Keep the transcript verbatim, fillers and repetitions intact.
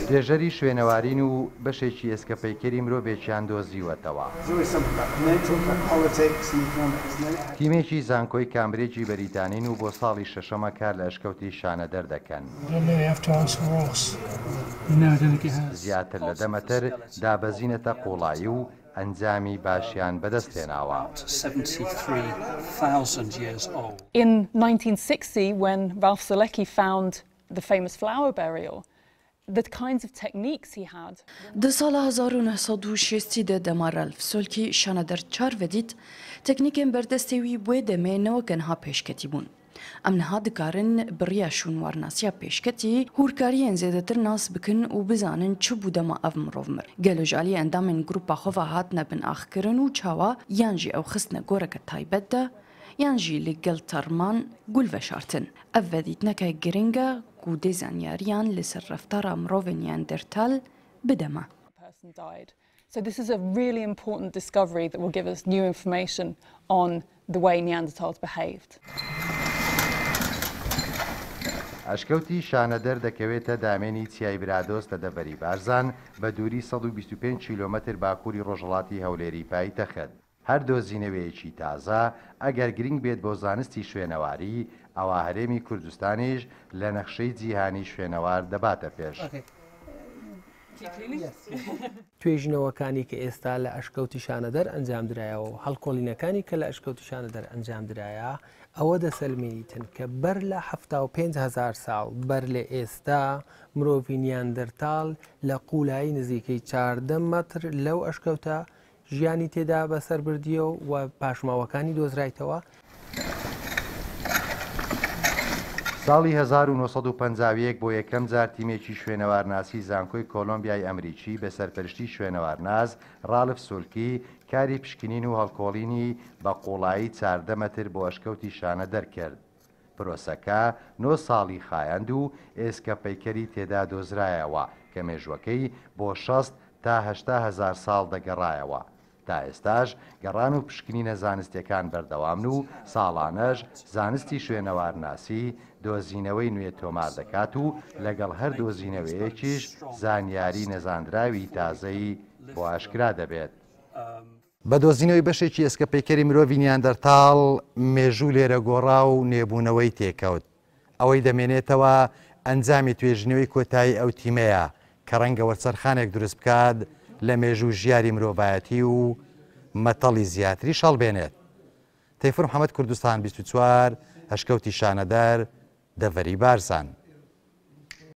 توێژەری شوێنەوارین و بەشێکی ئێسکەپەیکەری مرۆڤێکیان دۆزیوەتەوە. تیمێکی زانکۆی کامبریجی بەریتانین و بۆ ساڵی شەشەمە کار لە ئەشکەوتی شانەدەر دەکەن. زیاتر لە دە مەتر دابەزینەتە قوڵایی و ئەنجامی باشیان بەدەستهێناوە. In nineteen sixty, when Ralph Solecki found the famous flower burial, the kinds of techniques he had. د ساڵ هەزار و نۆ سەد و شەست دە دەما رالف سۆلکی شانەدەر چار ڤەدیت تەکنیکێن بەردەستێ وی بوێ دەمێ نەوەکە نها پێشکەتی بوون. ئەم نها دکارن بڕیا شوونوارناسیا پێشکەتی هورکاریان زێدەتر ناس بکن و بزانن چ بوو دەما ئەv مرۆڤ مر. گەلۆ ژالی ئەندامên گروپا خۆڤە هاتنە بن ئاخکردن و چاوە یان ژی ئەو خستنە گۆرەکە تایبەتدا یان ژی لەگەڵ تەرمان گول ڤەشارتن. ئەv ڤەدیتنەکە گرنگە و دێ زانیاریان لەسەر ڕەفتارا مرۆڤên نیاندەرتال بدەمە. So this is a really important discovery that will give us new information on the way Neanderthals behaved. ئەشکەوتی شانەدەر دەکەوێتە دامێنی چیای برادۆست لە دەڤەری بارزان بە دووری سەد و بیست و پێنج کیلۆمەتر باکووری ڕۆژهەڵاتی هەولێری پایتەخت. هەر دۆزینەوەیەکی تازە ئەگەر گرنگ بێت بۆ زانستی شوێنەواری، ئەوە هەرێمی کوردستانیش لە نەخشەی جیهانی شوێنەوار دەباتە پێش. توێژینەوەکانی کە ئێستا لە ئەشکەوتی شانەدەر ئەنجام درایەوە و هەڵکۆڵینەکانی کە لە ئەشکەوتی شانەدەر ئەنجام درایە ئەوە دەسەلمێنیتن کە بەر لە حەفتا و پێنج هەزار ساڵ بەر لە ئێستا مرۆڤی نیاندەرتال لە قوولایی نزیکەی چاردە مەتر لەو ئەشکەوتە ژیانی تێدا بەسەر بردیەوە و پاشماوەکانی دۆزرایتەوە. ساڵی هەزار و نۆ سەد و پەنجا و یەک بۆ یەکەم جار تیمێکی شوێنەوارناسی زانکۆی کۆلۆمبیای ئەمریکی بە سەرپەرشتی شوێنەوارناس ڕالف سولکی کاری پشکنین و هەڵکۆڵینی بە قوڵایی چاردە مەتر بۆ ئەشکەوتی شانە دەرکرد. پرۆسەکە نۆ ساڵی خایاند و ئێسکە پەیکەری تێدا دۆزرایەوە کە مێژوەکەی بۆ شەست تا هەشتا هەزار ساڵ دەگەڕایەوە. تا ئێستاش گەڕان و پشکنینە زانستیەکان بەردەوامن و ساڵانەش زانستی شوێنەوارناسی دۆزینەوەی نوێ تۆمار دەکات و لەگەڵ هەر دۆزینەوەیەکیش زانیاری نەزاندراوی تازەی بۆ ئاشکرا دەبێت. بە دۆزینەوەی بەشێکی ئێسکە پەیکەری مرۆڤی نیاندەرتاڵ مێژوو لێرە گۆڕا و نێبوونەوەی تێکەوت. ئەوەی دەمێنێتەوە ئەنجامی توێژینەوەی کۆتایی ئەو تیمەیە کە ڕەنگە وەرچەرخانێک دروست بکات لە مێژوو ژیاری مرۆڤایەتی و مەتەڵی زیاتریش هەڵبێنێت. تەیفور محەممەد، کوردستان بیست و چوار، ئەشکەوتی شانەدەر، دەڤەری بارزان.